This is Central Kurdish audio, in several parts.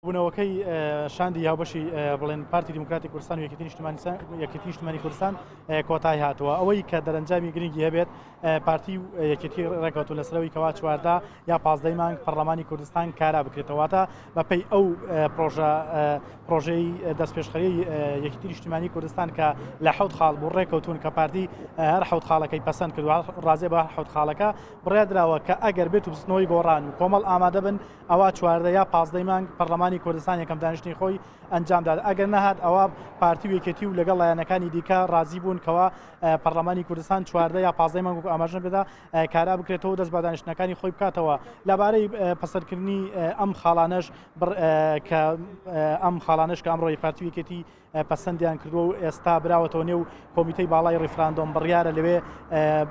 کۆبوونەوەکەی شاندی هاوبەشی بڵێن پارتی دیموکراتی کوردستان و یەکێتی نیشتمانی یەکێتی نیشتمانی کوردستان کۆتایی هاتووە. ئەوەی کە دەرەنجامی گرنگی هەبێت، پارتی و یەکێتی ڕێکەوتون لەسەرەوەی کەوا 14 یا 15 مانگ پەرلەمانی کوردستان کارا بکرێتەوە، واتە بەپێی ئەو پرۆژە پرۆژەی دەستپێشخەری یەکێتی نیشتمانی کوردستان کە لە حەوت خاڵ بوو، ڕێکەوتون کە پارتی هەر حەوت خاڵەکەی پەسەند کردووە، ڕازیە بە حەوت خاڵەکە. بڕیاردراوە کە ئەگەر بێت و بزوتنەوەی گۆڕان و کۆمەڵ ئامادە بن، ئەوا 14 یا 15 مانگ پەرلەمانی کوردستان یەکەم دانیشتنی خۆی ئەنجامدات. ئەگەر نەهات، ئەوە پارتی و یەکێتی و لەگەڵ لایەنەکانی دیکە ڕازی بوون کەوا پەرلەمانی کوردستان 14 یا 15 مانگ وەکو ئاماژە پێدا کارا بکرێتەوە و دەست بە دانیشتنەکانی خۆی بکاتەوە. لەبارەی پەسەندکردنی ئەم خاڵانەش کە ئەم خاڵانەش کە ئەمڕۆی پارتی و یەکێتی پەسەندیان کردووە و ئێستا براوەتەوە نێو کۆمیتەی باڵای ڕیفراندۆم، بڕیارە لەوێ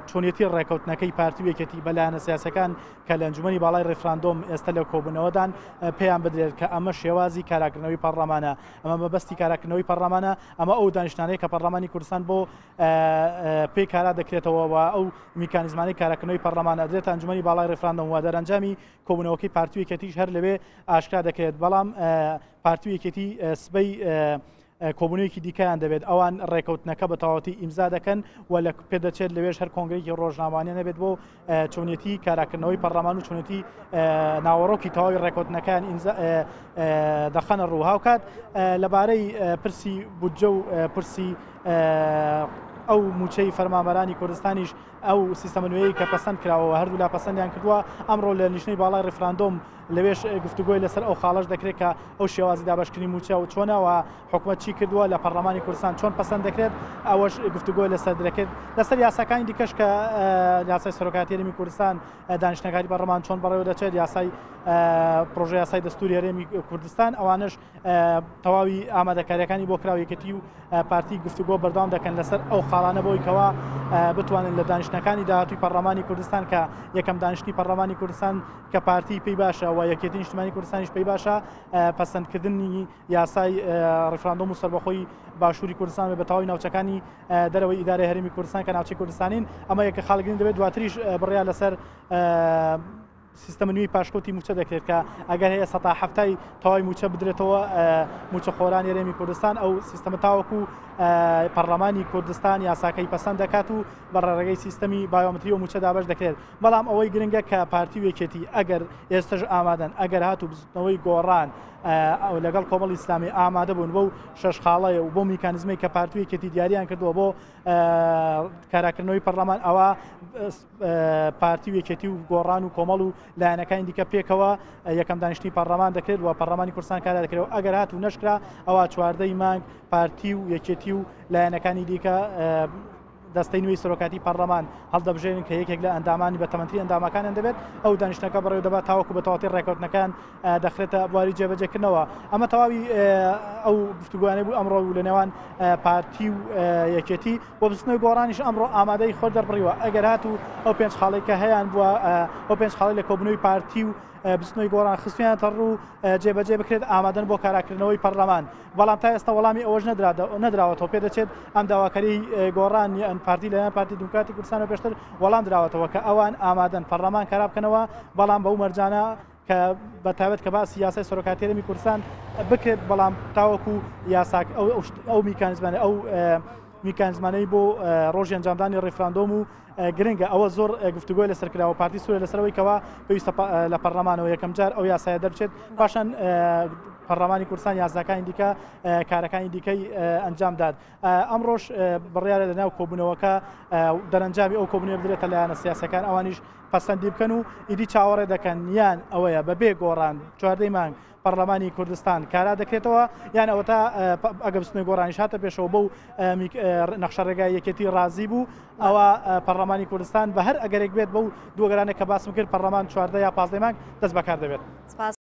چۆنیەتی ڕێکەوتنەکەی پارتی و یەکێتی بە لایەنە سیاسەکان کە لە ئەنجومەنی باڵای ڕیفراندۆم ئێستا لە کۆبوونەوەدان پێیان بدرێت کە ئەمە شێوازی کاراکردنەوەی پەرلەمانە، ئەمە مەبەستی کاراکردنەوەی پەرلەمانە، ئەمە ئەو دانیشتانەیە کە پەرلەمانی کوردستان بۆ پێی کارا دەکرێتەوە و ئەو میکانیزمانەی کاراکردنەوەی پەرلەمان ئەدرێتە ئەنجومەنی باڵای ڕیفراندۆم و دەرەنجامی کۆبوونەوەکەی پارتی و یەکێتیش هەر لەوێ ئاشکرا دەکرێت. بەڵام پارتی و یەکێتی سبەی کۆبوونەوەیەکی دیکەیان دەبێت، ئەوان ڕێکەوتنەکە بە تەواوەتی ئیمزا دەکەن و لە پێدەچێت لەوێش هەر کۆنگرێکی ڕۆژنامەوانیان هەبێت بۆ چۆنیەتی کاراکردنەوەی پەرلەمان و چۆنیەتی ناوەڕۆکی تەواوی ڕێکەوتنەکان ئیمزا دەخەنە ڕوو. هاوکات لەبارەی پرسی بودجە و پرسی ئەو موچەی فەرمانبەرانی کوردستانیش، ئەو سیستەمە نوێیەی کە پەسەند کراوە و هەردوولا پەسەندیان کردووە، ئەمڕۆ لە لیژنەی باڵای ڕیفراندۆم لەوێش گفتوگۆی لەسەر ئەو خاڵەش دەکرێت کە ئەو شێوازی دابەشکردنی مووچە و چۆنە و حکومەت چی کردووە، لە پەرلەمانی کوردستان چۆن پەسەند دەکرێت، ئەوەش گفتوگۆی لەسەر دەکرێت. لەسەر یاساکانی دیکەش کە یاسای سەرۆکایەتی هەرێمی کوردستان، دانیشتنەکانی پەرلەمان چۆن بەڕێوە دەچێت، یاسای پرۆژە یاسای دەستوری هەرێمی کوردستان، ئەوانەش تەواوی ئامادەکاریەکانی بۆ کراوە. یەکێتی و پارتی گفتوگۆ بەردەوام دەکەن لەسەر ئەو خاڵانە بۆی کەوا بتوانن لە دانیشتنەکانی داهاتووی پەرلەمانی کوردستان، کە یەکەم دانیشتنی پەرلەمانی کوردستان کە پارتی پێی باشە و یەکێتی نیشتمانی کوردستانیش پێی باشە، پەسەندکردنی یاسای ڕیفراندۆم و سەربەخۆی باشووری کوردستان بە تەواوی ناوچەکانی دەرەوەی ئیدارەی هەرێمی کوردستان کە ناوچەی کوردستانین، ئەمە یەکە خاڵگرین دەبێت. دواتریش بڕیار لەسەر سیستەمە نوێی پاشکەوتی مووچە دەکرێت کە ئەگەر هەیە 70% تەواوی مووچە بدرێتەوە مووچەخۆرانی هەرێمی کوردستان. ئەو سیستەمە تاوەکو پەرلەمانی کوردستان یاساکەی پەسەند دەکات و بە ڕێگەی سیستەمی بایۆمەتری و مووچە دابەش دەکرێت. بەڵام ئەوەی گرنگە کە پارتی و یەکێتی ئەگەر ئێستش ئامادەن، ئەگەر هاتوو بزوتنەوەی گۆڕان لەگەڵ کۆمەڵی ئیسلامی ئامادە بوون بەو شەش خاڵەیە و بۆ میکانزمەی کە پارتی و یەکێتی دیاریان کردووە بۆ کاراکردنەوەی پەرلەمان، ئەوە پارتی و یەکێتی و گۆڕان و کۆمەڵ و لایەنەکانی دیکە پێکەوە یەکەم دانیشتنی پەرلەمان دەکرێت و پەرلەمانی کوردستان کارا دەکرێت و ئەگەر هات و نەشکرا، ئەوە 14ی مانگ پارتی و یەکێتی و لایەنەکانی دیکە دەستەی نوێی سەرۆکاتی پەرلەمان هەڵدەبژێرن کە یەکێک لە ئەندامانی بە تەمەنتری ئەندامەکانیان دەبێت، ئەو دانیشتنەکە بەڕێوە دەبات تاوەکو بە تەواوەتی ڕێکەوتنەکان دەخرێتە بواری جێبەجێکردنەوە. ئەمە تەواوی ئەو گفتوگۆیانەی بوو ئەمڕۆ و لە نێوان پارتی و یەکێتی و بزوتنەوەی گۆڕانیش ئەمڕۆ ئامادەی خۆر دەربڕیوە ئەگەر هاتوو ئەو پێنج خاڵی کە هەیان بووە، ئەو پێنج خاڵی لە کۆبوونەوەی پارتی و بزوتنەوەی گۆڕان خستویانەتە ڕوو جێبەجێ بکرێت، ئامادەن بۆ کاراکردنەوەی پەرلەمان. بەڵام تا ئێستا وەڵامی ئەوەش نەدراوەتەوە. پێدەچێت ئەم داواکاری گۆڕان یان پارتی لەلایەن پارتی دیموکراتی کوردستان و پێشتر وەڵام دراوەتەوە کە ئەوان ئامادەن پەرلەمان کارا بکەنەوە، بەڵام بەو مەرجانە کە بە تایبەت کە باسی یاسای سەرۆکایەتی هەرێمی کوردستان بکرێت، بەڵام تاوەکو یاساک ئەو میکانیزمانە ئەو میکانیزمانەی بۆ ڕۆژی ئەنجامدانی ڕیفراندۆم و گرنگە، ئەوە زۆر گفتوگۆی لەسەر کراوە. پارتی سوورە لەسەرەوەی کەوا پێویستە لە پەرلەمانەوە یەکەم جار ئەو یاسایە دەربچێت، پاشان پەرلەمانی کوردستان یاساکانی دیکە کارەکانی دیکەی ئەنجامدات. ئەمڕۆش بڕیارە لەناو کۆبوونەوەکە دەرەنجامی ئەو کۆبوونەوە بدرێتە لایەنە سیاسەکان، ئەوانیش پەسەندی بکەن و ئیدی چاوەڕێ دەکەن، یان ئەوەیە بەبێ گۆڕان 14ی مانگ پەرلەمانی کوردستان کارا دەکرێتەوە، یان ئەوەتا ئەگە بزوتنەوەی گۆڕانیش هاتە پێشەوە بەو نەخشە ڕێگای یەکێتی ڕازی بوو، ئەوە پەرلەمانی کوردستان بە هەر ئەگەرێک بێت بەو دووەگەرانە کە باسم کرد پەرلەمان 14 یا 15 مانگ دەست بەکار دەبێت.